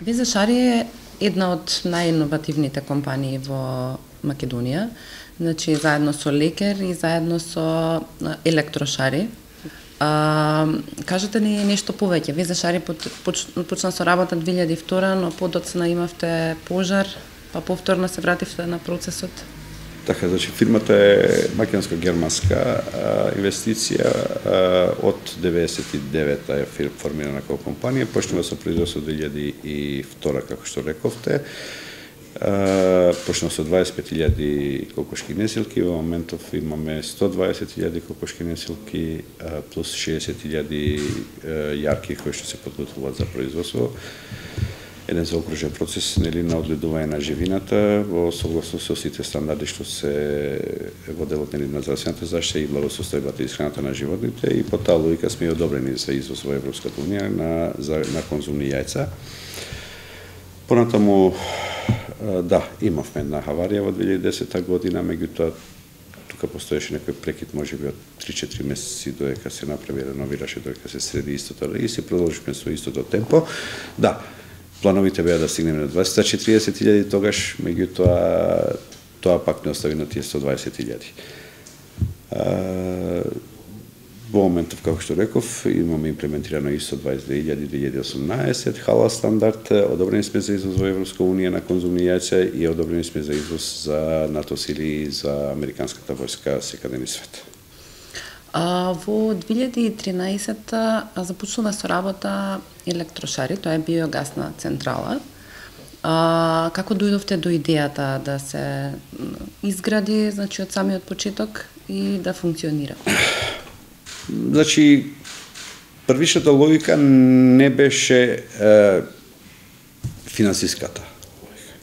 Веза Шари е една од најиновативните компании во Македонија, значи заедно со Лекер и заедно со Електрошари. Кажете ни нешто повеќе. Веза Шари почна со работа 2002, но подоцна имавте пожар, па повторно се вративте на процесот. Така, значи фирмата е македонско-германска инвестиција, од 99-та е формирана како компанија, почнува со производство 2002, како што рековте. Почнува со 25.000 кокошки несилки, во моментов имаме 120.000 кокошки несилки плюс 60.000 јарки кои што се подготвуваат за производство. Еден заокружен процес на одгледување на живината во согласност со сите стандарди што се во делот на здравствената заштита и благосостојбата и исхраната на животните, и по таа логика сме одобрени за извоз во Европската унија на конзумни јајца. Понатаму, да, имавме една аварија во 2010 година, меѓутоа тука постоеше некој прекид, можеби од 3-4 месеци додека се направи, реновираше, додека се среди истото и се продолживме со истото темпо. Да, плановите беа да стигнеме на 240.000 тогаш, меѓутоа тоа пак не остави на тие 120.000. Во моментов, како што реков, имаме имплементирано ISO 22018, халал стандард, одобрени сме за извоз во Европска унија на конзумни јајца и одобрени сме за извоз за НАТО сили и за американската војска секаде низ свет. Во 2013 започнува со работа Електрошари, тоа е биогасна централа. Како дојдовте до идејата да се изгради, значи од самиот почеток и да функционира? Значи, првичната логика не беше финансиската логика.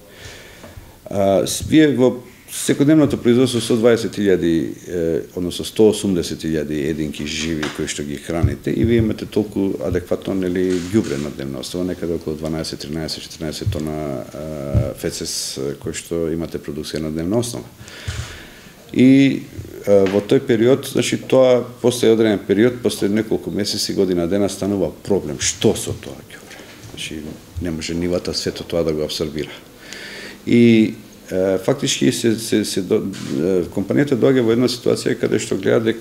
Вие во секојдневното производство 120.000, односно 180.000 единки живи кои што ги храните и вие имате толку адекватно ѓубре на дневна основа, некаде околу 12, 13, 14 тона фецес кои што имате продукција на дневна основа. И во тој период, значи тоа после одреден период, после неколку месеци, година дена станува проблем. Што со тоа ѓубре? Значи не може нивата сето тоа да го абсорбира. И фактички компанијата доаѓа во една ситуација каде што гледа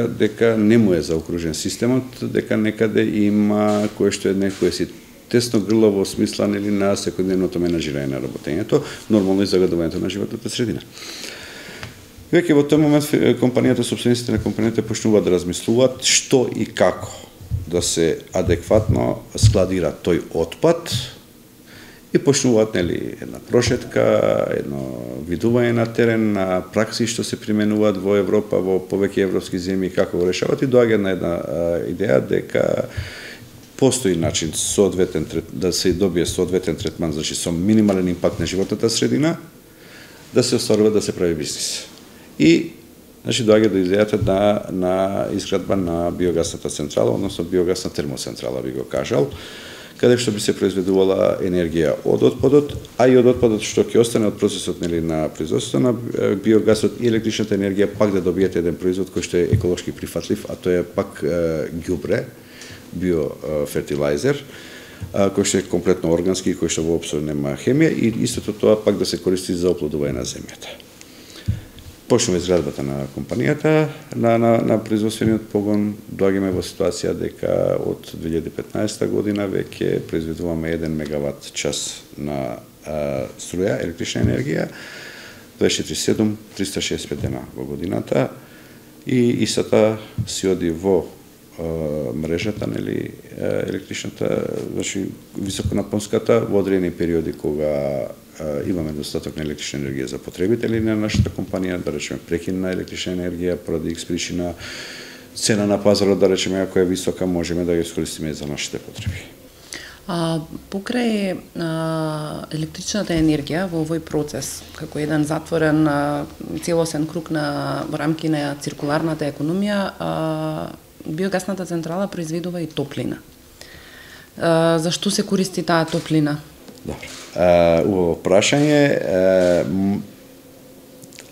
дека не му е заокружен системот, дека некаде има кое што е некој си тесно грло во смисла на секојдневното менаџирање на работењето, нормално и загадувањето на животната средина. Веќе во тој момент компанијата, собствениците на компанијата почнуваат да размислуваат што и како да се адекватно складира тој отпад и почнуваат една прошетка, едно видување на терен, на пракси што се применуваат во Европа, во повеќе европски земји, како го решават, и доаѓа на една идеја дека постои начин да се добие соодветен третман, значи со минимален импакт на животната средина, да се остварува да се прави бизнис. И значи доаѓа до идејата на изградба на биогасната централа, односно биогасна термоцентрала, би го кажал, каде што би се произведувала енергија од отпадот, а и од отпадот што ќе остане од процесот на производството на биогасот и електричната енергија, пак да добиете еден производ кој што е еколошки прифатлив, а тоа е пак ѓубре, биофертилайзер, кој што е комплетно органски, кој што воопшто нема хемија, и истото тоа пак да се користи за оплодување на земјата. Почнува изградбата на компанијата, на производствениот погон, доаѓаме во ситуација дека од 2015 година веќе произведуваме 1 мегават час на струја, електрична енергија, 24/7, 365 дена во годината, и истата си оди во мрежата, електричната, значи високонапонската, во одредени периоди кога имаме достаток на електрична енергија за потребители на нашата компанија, да речеме прекин на електрична енергија поради X причина, цена на пазарот, да речеме, ако е висока, можеме да ја искористиме за нашите потреби. Покрај електричната енергија во овој процес, како еден затворен целосен круг во рамки на циркуларната економија, биогасната централа произведува и топлина. Зашто се користи таа топлина? Добро. Убаво прашање.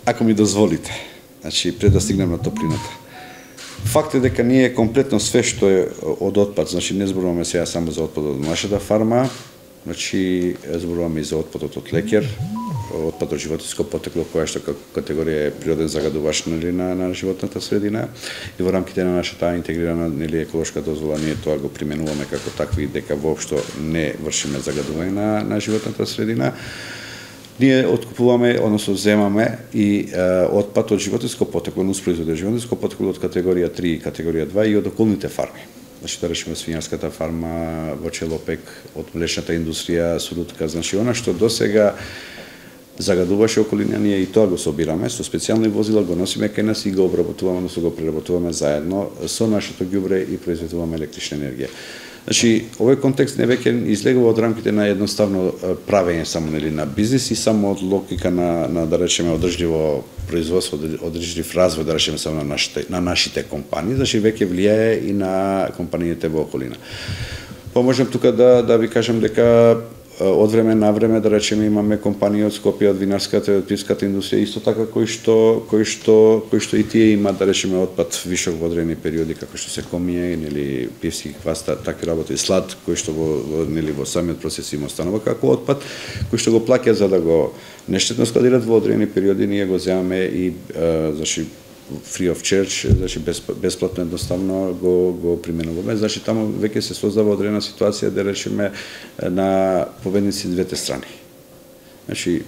Ако ми дозволите, значи пред да стигнем на топлината. Факт е дека ние комплетно све што е од отпад, значи не зборуваме сега само за отпад од нашата фарма, Значи, зборуваме и за отпадот од лекер, отпад од животинско потекло, која што категорија е природен загадувач на животната средина, и во рамките на нашата интегрирана еколошка дозвола ние тоа го применуваме како такви, дека воопшто не вршиме загадување на животната средина. Ние откупуваме, односно земаме и отпад од животинско потекло, нуспроизводи од животинско потекло од категорија 3 и категорија 2 и од околните фарми. Значи, да речеме свинјарската фарма, во Челопек, од млечната индустрија, Сурутка, значи, она што досега загадуваше околина, ние и тоа го собираме, со специјални возила го носиме кај нас и го обработуваме, односно го преработуваме заедно со нашето ѓубре и произведуваме електрична енергија. Значи, овој контекст не веќе излегува од рамките на едноставно правење само на бизнис и само од логика на да речеме одржливо производство, одржлив развој, да речеме само на нашите компании, значи веќе влијае и на компаниите во околина. Па можам тука да ви кажам дека од време на време, да речеме, имаме компании од Скопје, од винарската и од пивската индустрија, исто така кои што и тие имаат, да речеме, отпад вишок во одредени периоди, како што се комија или пивски квас, такви работи, слад, кои што во самиот процес им останува како отпад, кои што го плаќаат за да го нештетно складират во одредени периоди, ние го земаме и значи free of charge, значи бесплатно едноставно го применуваме. Значи таму веќе се создава одредена ситуација, да речеме, на победници двете страни. Значи,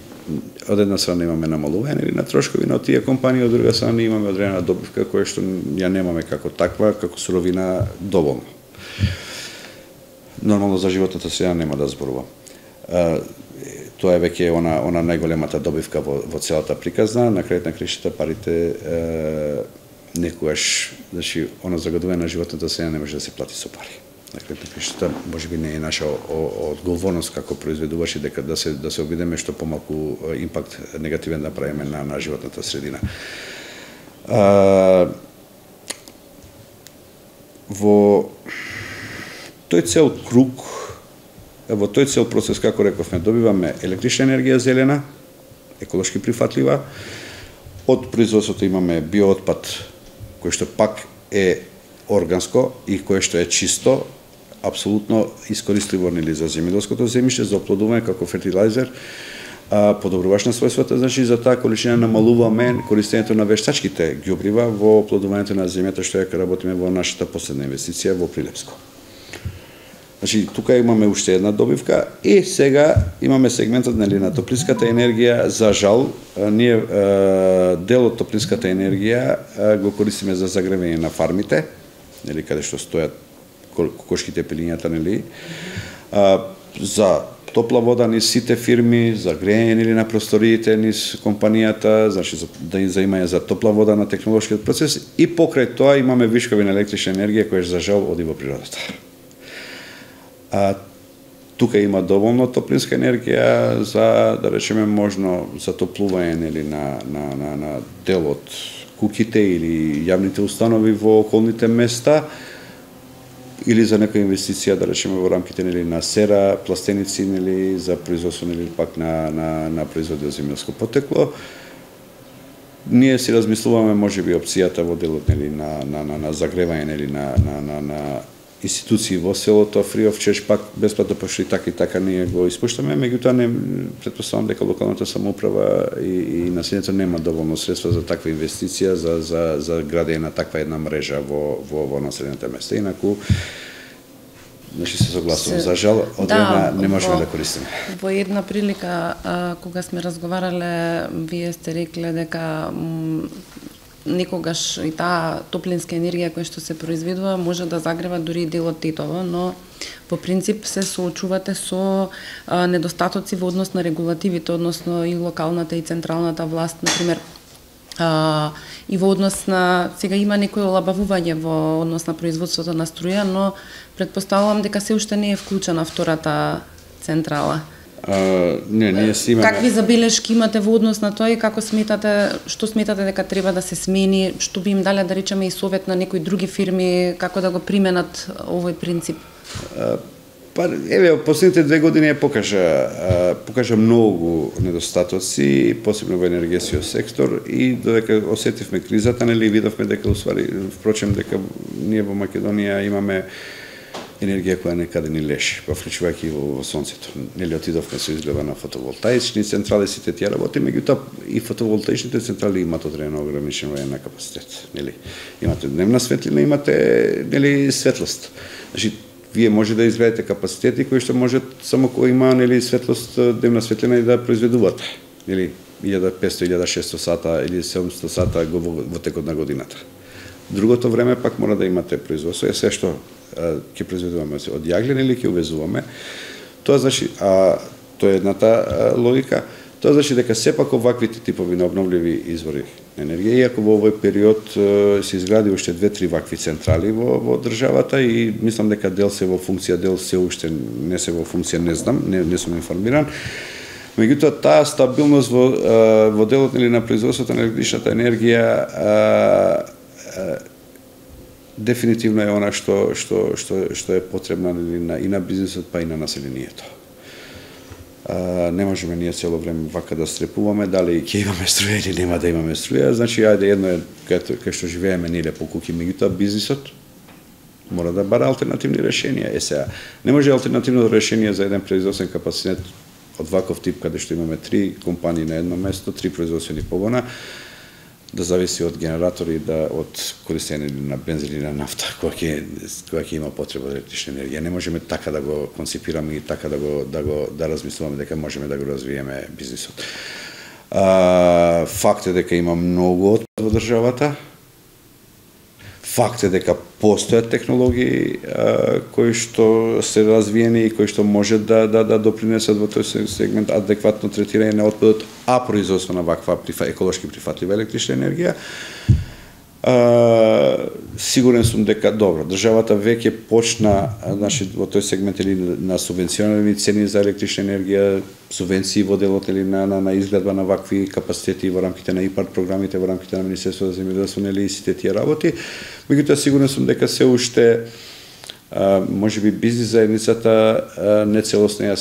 од една страна имаме намалување или на трошкови на тие компании, од друга страна имаме одредена добивка која што ја немаме како таква, како суровина доволно. Нормално за животната средина нема да зборувам. Тоа е веќе она најголемата добивка во целата приказна. На крајот на краиштата парите некогаш, значи, она загадување на животната средина не може да се плати со пари. На крајот на краиштата можеби не е наша одговорност како произведувачи дека да се обидеме што помалку импакт негативен да правиме на животната средина. Во тој цел круг, во тој цел процес, како рековме, добиваме електрична енергија зелена, еколошки прифатлива, од производството имаме биоотпад, кој што пак е органско и кој што е чисто, апсолутно искористливо за земјоделското земјиште, за оплодување како фертилайзер, подобруваш на својствата, значи за таа количина намалуваме користењето на вештачките ѓубрива во оплодувањето на земјата, што ја работиме во нашата последна инвестиција во Прилепско. Значи, тука имаме уште една добивка и сега имаме сегментот на топлинската енергија. За жал, ние дел од топлинската енергија го користиме за загревање на фармите, каде што стојат кокошките пилињата, за топла вода низ сите фирми, за грејење на просториите низ компанијата, значи да им заимање за топла вода на технолошкиот процес, и покрај тоа имаме вишкови на електрична енергија која за жал оди во природата. Тука има доволно топлинска енергија за, да речеме, можно затоплување на дел од куќите или јавните установи во околните места, или за некоја инвестиција, да речеме, во рамките на сера, пластеници, за производство пак на производи од земјоделско потекло. Ние си размислуваме можеби опцијата во делот на загревање на институции во селото, free of charge, пак бесплатно, пошто и така ние го испуштаме, меѓутоа не претпоставам дека локалната самоуправа и населението нема доволно средства за таква инвестиција, за градење на таква една мрежа во населените места. Инаку, значи се согласувам, за жал, од една не можеме да користиме. Во една прилика, кога сме разговарале, вие сте рекле дека некогаш и таа топлинска енергија која што се произведува може да загрева дури и дел од Тетово, но по принцип се соочувате со недостатоци во однос на регулативите, односно и локалната и централната власт, например, и во однос на, сега има некој олабавување во однос на производството на струја, но предпоставувам дека се уште не е вклучена втората централа. Не, ние си имаме... Какви забелешки имате во однос на тоа и како сметате, што сметате дека треба да се смени, што би им дале, да речеме, и совет на некои други фирми, како да го применат овој принцип? Па, еве, последните 2 години покажа многу недостатоци, посебно во енергетскиот сектор, и додека осетивме кризата, видовме дека, впрочем, дека ние во Македонија имаме енергија која некаде ни лежи, вклучувајќи во сонцето. Нели отидовме со изгледа на фотоволтаични централи, сите тие работи, меѓутоа и фотоволтаичните централи имаат одредено ограничен воен капацитет, нели. Имате дневна светлина, имате нели светлост. Значи вие може да изградите капацитети кои што можат само кога има нели светлост, дневна светлина и да произведувате, нели 1500, 1600 сата или 700 сата во текот на годината. Другото време пак мора да имате производство, се што ќе произведуваме од јаглен или ќе увезуваме. Тоа значи, тоа е едната логика. Тоа значи дека сепак оваквите типови на обновливи извори на енергија, иако во овој период се изгради уште 2-3 вакви централи во државата и мислам дека дел се во функција, дел се уште не се во функција, не знам, не сум информиран. Меѓутоа таа стабилност во делот на производството на електричната енергија дефинитивно е она што е потребна и на бизнисот, па и на населението. Не можеме ние цело време вака да стрепуваме дали ќе имаме струја или нема да имаме струја. Значи, ајде, едно е кај што живееме ние по куки, меѓутоа бизнисот мора да бара алтернативни решенија. Сега, не може алтернативно решение за еден производствен капацитет од ваков тип, каде што имаме 3 компании на едно место, 3 производствени погона, да зависи од генератори, од користење на бензин или на нафта, кога ќе има потреба за електрична енергија. Не можеме така да го концепираме и така да размислуваме дека можеме да го развиеме бизнисот. Факт е дека има многу отпад во државата. Факт е дека постојат технологии кои што се развиени и кои што може да допринесат во тој сегмент адекватно третирање на отпадот, а производство на ваква еколошки прифатлива електрична енергија. Сигурен сум дека добро, државата веќе почна, значи во тој сегмент или на субвенционирани цени за електрична енергија, субвенции во делот или на изградба на вакви капацитети во рамките на ИПАРД програмите, во рамките на Министерството за земјоделство, нели и сите тие работи. Меѓутоа сигурен сум дека се уште можеби бизнис заедницата нецелосно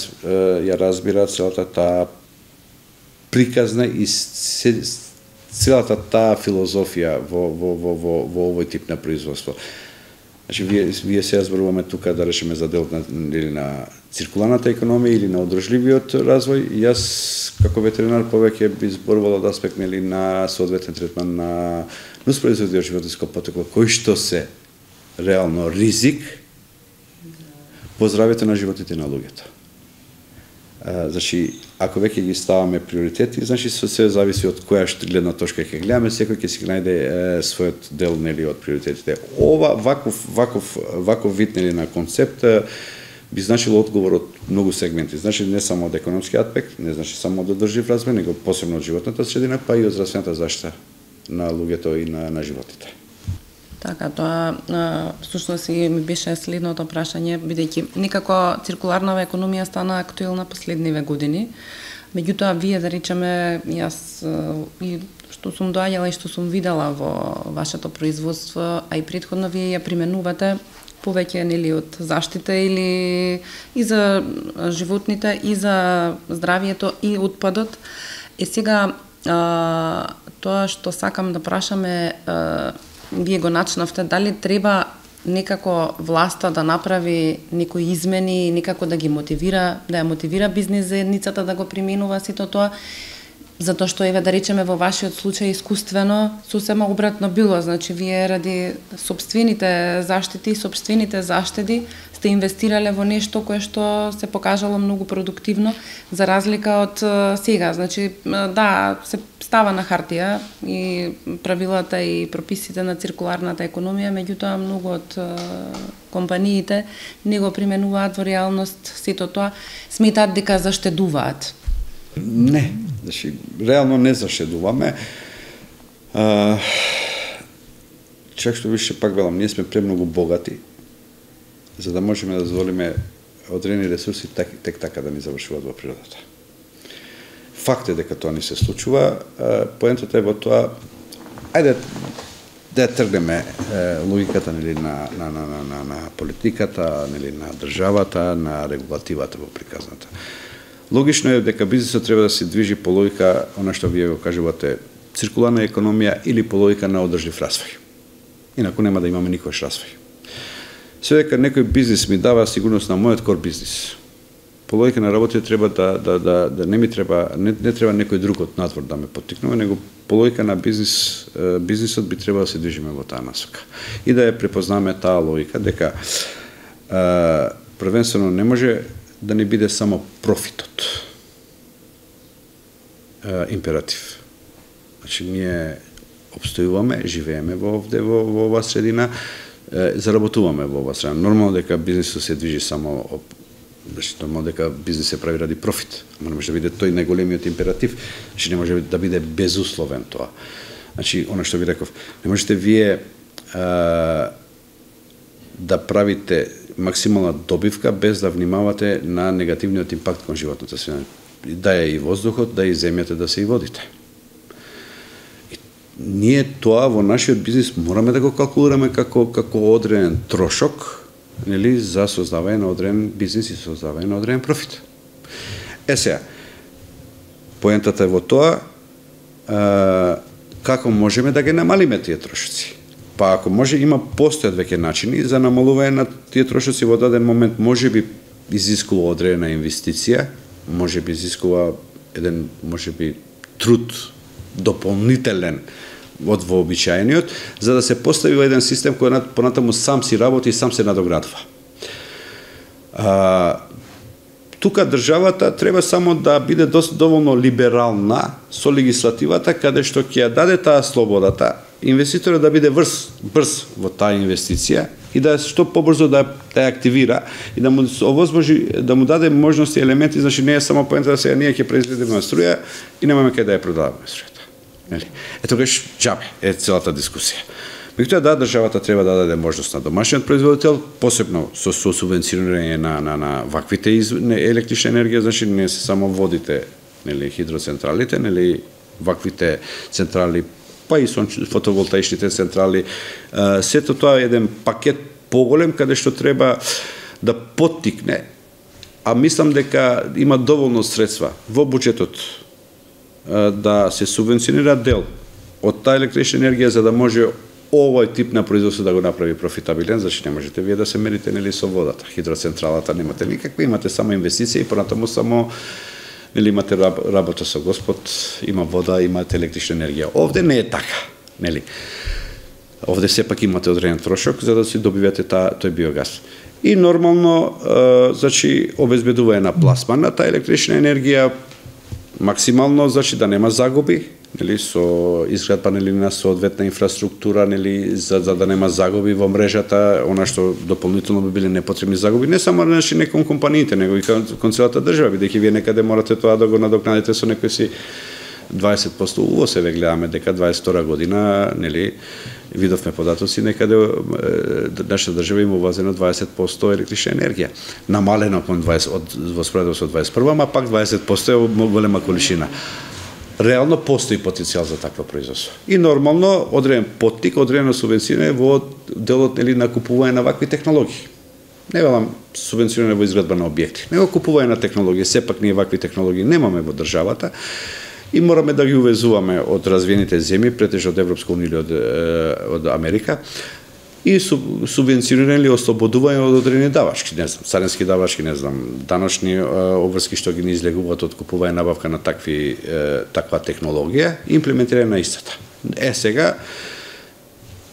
ја разбира целата таа приказна и целата таа филозофија во овој тип на производство. Значи, вие се зборуваме тука да речеме за делот на циркуларната економија или на одржливиот развој. Јас, како ветеринар, повеќе би зборувал од аспект на соодветен третман на нуспроизводи од животинско потекло, кои што се реално ризик по здравјето на животите на луѓето. Значи, ако веќе ги ставаме приоритети, значи се зависи од која гледна точка ќе гледаме, секој ќе си најде својот дел нели од приоритетите. Ова ваков вид нели на концепт би значило одговор од многу сегменти. Значи не само од економски аспект, не значи само од одржлив развој, него посебно од животната средина, па и од здравствената заштита на луѓето и на животите. Така, тоа всушност и ми беше следното прашање, бидејќи некако циркуларната економија стана актуелна последниве години. Меѓутоа, вие, да речеме, јас и што сум доаѓала и што сум видела во вашето производство, а и претходно вие ја применувате повеќе нели од заштита или и за животните, и за здравието, и отпадот. Сега, тоа што сакам да прашаме, вие го начнавте, дали треба некако власта да направи некои измени, некако да ги мотивира, да ја мотивира бизнис заедницата да го применува сето тоа, затоа што еве да речеме во вашиот случај искуствено сосема обратно било, значи вие ради сопствените заштити, сопствените заштеди сте инвестирале во нешто кое што се покажало многу продуктивно за разлика од сега, значи да се става на хартија и правилата и прописите на циркуларната економија, меѓутоа многу од компаниите не го применуваат во реалност сето тоа, сметаат дека заштедуваат. Не, значи реално не заштедуваме. Чак што више пак велам, ние сме премногу богати за да можеме да дозволиме одредени ресурси тек така да ни завршуваат во природата. Факт е дека тоа ни се случува, поентата е во тоа, ајде да тргнеме логиката нели на политиката, нели на државата, на регулативата во приказната. Логично е дека бизнисот треба да се движи по логика, она што вие го кажувате, циркуларна економија или по логика на одржлив развој. Инаку нема да имаме никој развој. Се дека некој бизнис ми дава сигурност на мојот кор бизнис. По логика на работа треба да не треба некој друг од надвор да ме поттикнува, него по логика на бизнисот би требало да се движиме во таа насока. И да ја препознаме таа логика дека првенствено не може да не биде само профитот императив. Значи ние обстојуваме, живееме во оваа средина, заработуваме во оваа средина. Нормално дека бизнисот се движи само нормално дека бизнис се прави ради профит, ама не може да биде тој најголемиот императив, значи не може да биде безусловен тоа. Значи, она што ви реков, не можете вие да правите максимална добивка без да внимавате на негативниот импакт кон животната средина. Да е и воздухот, да е и земјата, да се и водите. И ние тоа во нашиот бизнис мораме да го калкулираме како одреден трошок, нели, за создавање на одреден бизнис и создавање на одреден профит. Сега, поентата е во тоа, како можеме да ги намалиме тие трошоци. Па ако може, постојат веќе начини за намалување на тие трошоци во даден момент, може би изискува одредена инвестиција, може би изискува еден, може би, труд дополнителен од вообичаениот, за да се постави еден систем кој понатаму сам си работи и сам се надоградува. Тука државата треба само да биде доволно либерална со легислативата, каде што ќе ја даде таа слободата, инвеститорот да биде брз во таа инвестиција и да што побрзо да ја активира и да му овозможи, да му даде можности и елементи, значи не е само поента да сега ние ќе произведеме струја и немаме кај да ја продаваме струјата. Нели? Тогаш џабе е целата дискусија. Меѓутоа да, државата треба да даде можност на домашниот производител, посебно со субвенцирање на ваквите електрична енергија, значи не се само водите, нели, хидроцентралите, нели, ваквите централи, па и фотоволтаичните централи, сето тоа е еден пакет поголем каде што треба да поттикне, а мислам дека има доволно средства во буџетот да се субвенционира дел од таа електрична енергија за да може овој тип на производство да го направи профитабилен, значи не можете вие да се мерите, нели, со водата. Хидроцентралата немате никаква, имате само инвестиција и понатаму само, нели, имате работа со Господ, има вода, имате електрична енергија. Овде не е така, нели. Овде сепак имате одреден трошок за да си добивате тој биогаз. И нормално, значи, обезбедување на пласман на таа електрична енергија максимално, значи да нема загуби, нели, со изградба, нели, на соодветна инфраструктура, нели, за да нема загуби во мрежата, она што дополнително би биле непотребни загуби, не само не кон компаниите, него и кон целата држава, бидејќи вие некаде морате тоа да го надокнадите со некој си 20% увоз, еве гледаме дека 22 година, нели, видовме податоци, некаде нашата држава има увазено 20% електрична енергија. Намалено во споредба со 21, ама пак 20% е голема количина. Реално постои потенцијал за такво производство. И нормално одреден поттик, одредено субвенцирање во делот, нели, на купување на вакви технологии. Не велам субвенцирање во изградба на објекти, него купување на технологии. Сепак ние вакви технологии немаме во државата и мораме да ги увезуваме од развиените земји, претежно од Европска унија или од Америка, и субвенционирани или ослободување од одредени давачки, не знам, царински давачки, не знам, даночни обврски што ги не излегуваат од купување набавка на таква технологија и имплементирање на истата. Сега,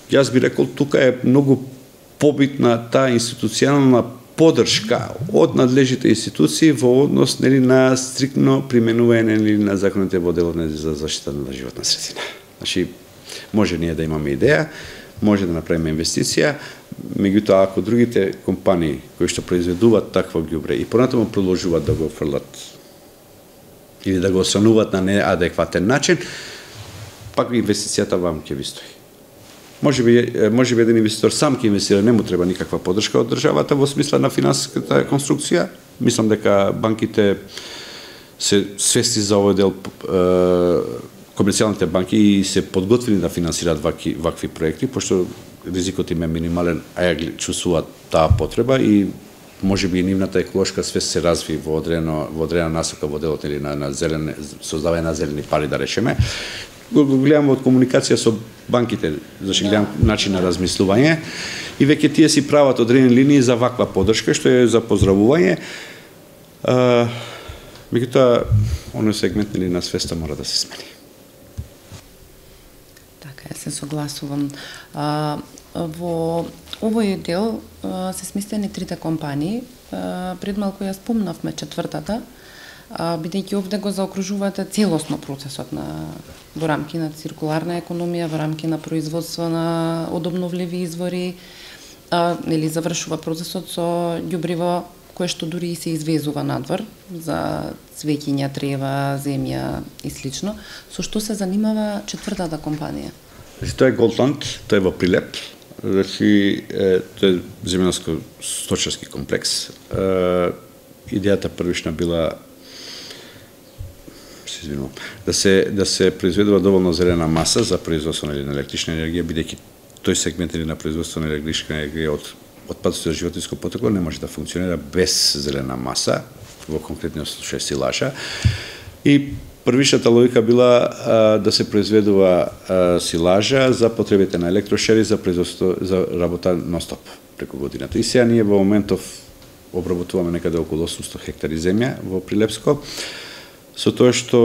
јас би рекол, тука е многу побитна таа институционална поддршка од надлежните институции во однос, нели, на стриктно применување, нели, на законите во делот за заштита на животна средина. Значи, може ние да имаме идеја, може да направиме инвестиција, меѓутоа ако другите компании кои што произведуваат такво ѓубре и понатаму продолжуваат да го фрлат или да го осрануваат на неадекватен начин, пак инвестицијата вам ќе ви стои. Може би еден инвеститор сам ќе инвестира, не му треба никаква поддршка од државата во смисла на финансиската конструкција. Мислам дека банките се свести за овој дел, комерцијалните банки, и се подготвени да финансираат вакви проекти, пошто ризикот им е минимален, а ја чувствуваат таа потреба и може би и нивната еколошка свест се разви во одредена насока во делот или на создавање на зелени пари, да речеме. Го гледам од комуникација со банките, значи гледам начин на размислување и веќе тие си прават одредени линии за ваква поддршка, што е за поздравување. Меѓутоа, оној сегмент на свеста мора да се смени. Така, се согласувам. Во овој дел се сместени трите компании. Пред малку ја спомнавме четвртата, бидејќи овде го заокружувате целосно процесот во рамки на циркуларна економија, во рамки на производство на одобновливи извори, или завршува процесот со ѓубриво кое што дури и се извезува надвор за цвеќиња, трева, земја и слично. Со што се занимава четвртата компанија? Тоа е Голдланд, тоа е во Прилеп. Тоа е земјанско-сточарски комплекс. Идејата првична била да се произведува доволно зелена маса за производство на електрична енергија, бидејќи тој сегмент на производство на електрична енергија од отпадоци од животинско потекло не може да функционира без зелена маса, во конкретниот случај силажа. И првичната логика била да се произведува силажа за потребите на електрошери за производство за работа нон-стоп преку годината. И сега ние во моментов обработуваме некаде околу 800 хектари земја во Прилепско. Со тоа што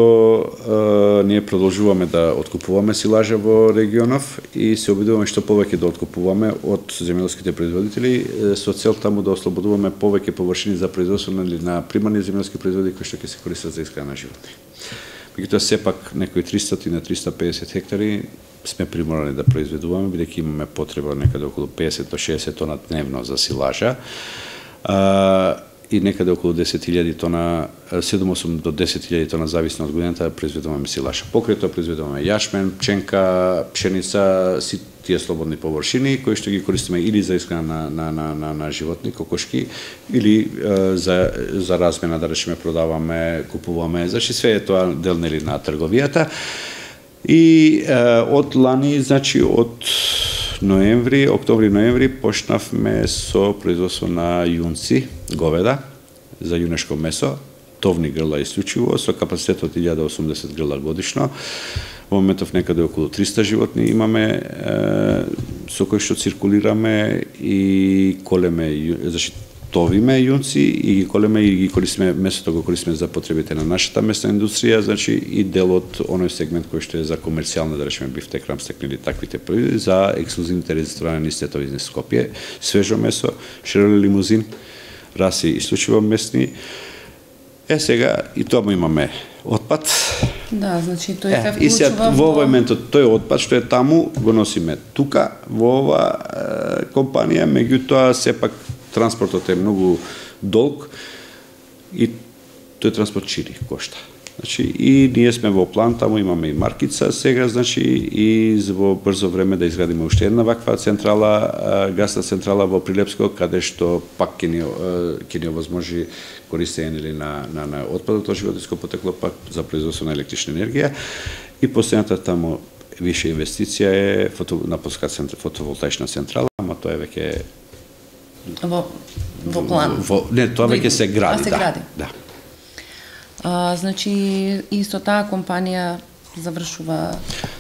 ние продолжуваме да откупуваме силажа во регионов и се обидуваме што повеќе да откупуваме од земјоделските производители со цел таму да ослободуваме повеќе површини за производство на примарни земјоделски производи кои што ќе се користат за исхрана на животни. Меѓутоа сепак некои 300 на 350 хектари сме приморани да произведуваме, бидејќи имаме потреба некаде околу 50 до 60 тона дневно за силажа. И некаде околу 10.000 тона, 7-8 до 10.000 тона зависно од годината произведуваме силаж. Покрај тоа произведуваме јашмен, пченка, пшеница, си тие слободни површини кои што ги користиме или за исхрана на животни, кокошки, или за размена, да речеме, продаваме, купуваме, значи све е тоа дел нели на трговијата. И од лани, значи од октомври-ноември почнавме со производство на јунци, говеда, за јунешко месо, товни грла исклучиво, со капацитет од 1080 грла годишно. Во моментов некаде околу 300 животни имаме, со кои што циркулираме и колеме, значи товиме јунци и ги колеме и ги користиме, месото го користиме за потребите на нашата месна индустрија, значи и дел од оној сегмент кој што е за комерцијална, да речеме, бифтек, рамстек или таквите производи, за ексклузивните регистрирани стетови из Скопје, свежо месо, шероле лимузин, раси исклучиво местни. Сега и тоа имаме отпад. Да, значи тој се вклучува и сега во моментот тој отпад што е таму го носиме тука во ова компанија, меѓутоа сепак транспортот е многу долг и тој транспорт чири, кошта. Значи и ние сме во план, таму имаме и маркица сега, значи и во брзо време да изградиме уште една ваква централа, гасна централа во Прилепско, каде што пак ќе ни овозможи користење на отпадот од животинско потекло пак за производство на електрична енергија. И последната таму више инвестиција е фотоволтаична централа, ама тоа е веќе во план. Не, тоа веќе се гради, се гради. Да. Значи и со таа компанија завршува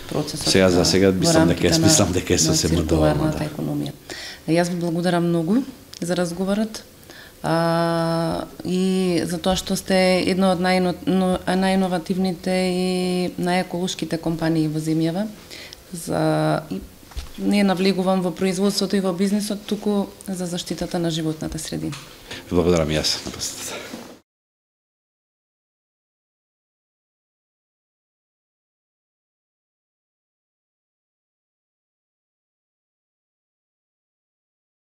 процесот. Сега за сега мислам дека е сосема доволно, да. Економија. Јас ви благодарам многу за разговорот. И за тоа што сте една од најиновативните и најеколошките компании во земјава. Не навлегувам во производството и во бизнисот, туку за заштитата на животната средина. Благодарам јас на посетата.